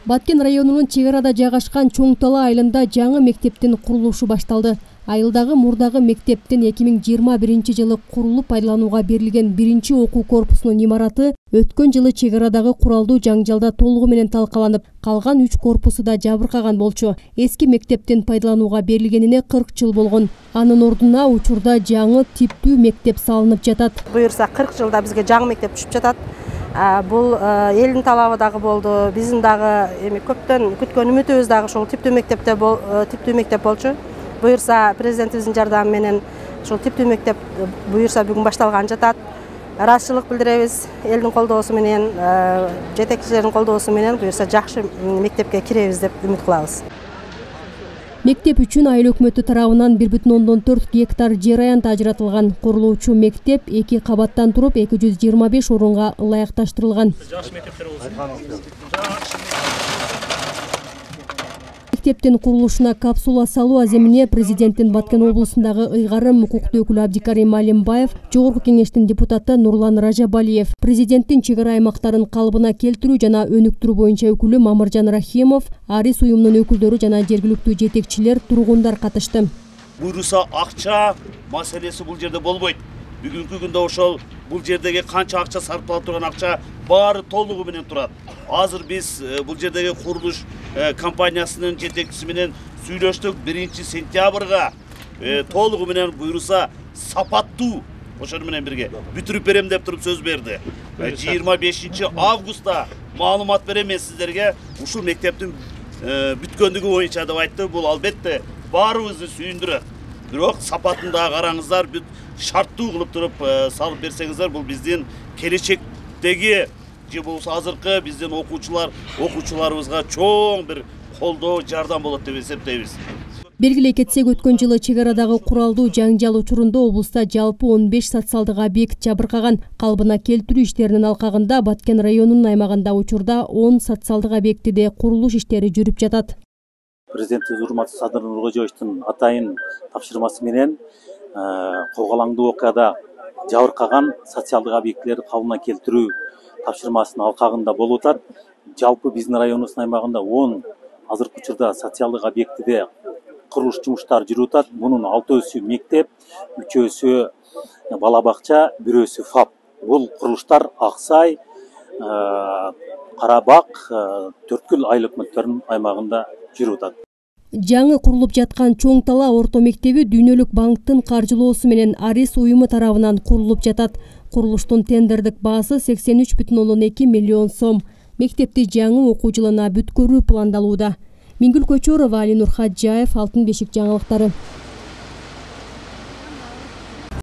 Баткен районунун чек арада жайгашкан Чоң Тала айылында жаңы мектептин курулушу башталды. Айылдагы мурдагы мектептин 2021 жылы курулуп пайдаланууга берилген биринчи окуу корпусунун имараты өткөн жылы чек арадагы куралдуу жаңжалда толугу менен талкаланып, калган 3 корпусу да жабыркаган болчу. Эски мектептин пайдаланууга берилгенине 40 жыл болгон. Анын ордуна учурда жаңы типтүү мектеп салынып жатат. Буюрса 40 жылда бизге жаңы мектеп түшүп жатат. Бул элдин талабы дагы болду. Биздин дагы көптөн күткөн үмүтүбүз дагы ушул типтүү мектеп болчу. Буюрса президентибиздин жардамы менен ушул типтүү мектеп буюрса бүгүн башталган жатат. Ыраазычылык билдиребиз. Элдин колдоосу менен, жетекчилердин колдоосу менен буюрса жакшы мектепке киребиз деп үмүт кылабыз. Мектеп үчүн айыл өкмөтү тарабынан 1,4 гектар жер аянты ажыратылган. Курулуучу мектеп 2 кабаттан туруп 225 орунга ылайыкташтырылган. Мектептин курулушуна капсула салуу аземине президенттин Баткен облусундагы ыйгарым укуктуу өкүлү Абдикарим Алимбаев, жогорку кеңештин депутаты Нурлан Ражабалиев, президенттин чек ара аймактарын калыбына келтирүү жана өнүктүрүү боюнча өкүлү Мамыржан Рахимов, Арис уюмунун өкүлдөрү жана жергиликтүү жетекчилер, тургундар катышты. Буйруса акча маселеси бул жерде болбойт. Бүгүнкү күндө ошол бул жердеги канча акча сарпталып турган акча баары толугу менен турат. Азыр биз бул жердеги курулуш компаниясынын жетекчиси менен сүйлөштүк. 1-сентябрга толугу менен буйруса сапаттуу ошону менен бирге бүтүрүп берем деп туруп сөз берди. 25 августта маалымат берем мен сиздерге. Ушул мектептин бүткөндүгү боюнча деп айтты. Бул албетте баарыбызды сүйүндүрөт. Бирок сапатын да караңыздар, бүт шарттуу кылып туруп салып берсеңиздер, бул биздин келечектеги же болбосо азыркы биздин окуучуларыбызга чоң бир колдоо, жардам болот деп эсептейбиз. Белгилей кетсек, өткөн жылы чек арадагы куралдуу жаңжал учурунда облуста жалпы 15 социалдык объект жабыркаган. Калыбына келтирүү иштеринин алкагында Баткен районунун аймагында учурда 10 социалдык объектиде курулуш иштери жүрүп жатат. Президентибиз урматтуу Садыр Нуркожоевичтин атайын тапшырмасы менен когалаңдуу окуяда жабыркаган социалдык объектилерди калыбына келтирүү тапшырмасынын алкагында болуп атат. Жалпы биздин районубуздун аймагында 10 азыркы учурда социалдык объектиде курулуш жумуштары жүрүп атат. Мунун 6-өсү мектеп, 3-өсү бала бакча, 1-өсү ФАП. Бул курулуштар Аксай, Карабак, Төрткүл айыл өкмөттөрүнүн аймагында жүрүп атат. Жаңы курулуп жаткан Чоң Тала орто мектеби Дүйнөлүк банктын каржылоосу менен Арис уюму тарабынан курулуп жатат. Курулуштун тендердик баасы 83,2 миллион сом. Мектепти жаңы окуу жылына бүткөрүү пландалууда. Мингүл Көчөрова, Али Нурхаджаев, Алтын бешик жаңылыктары.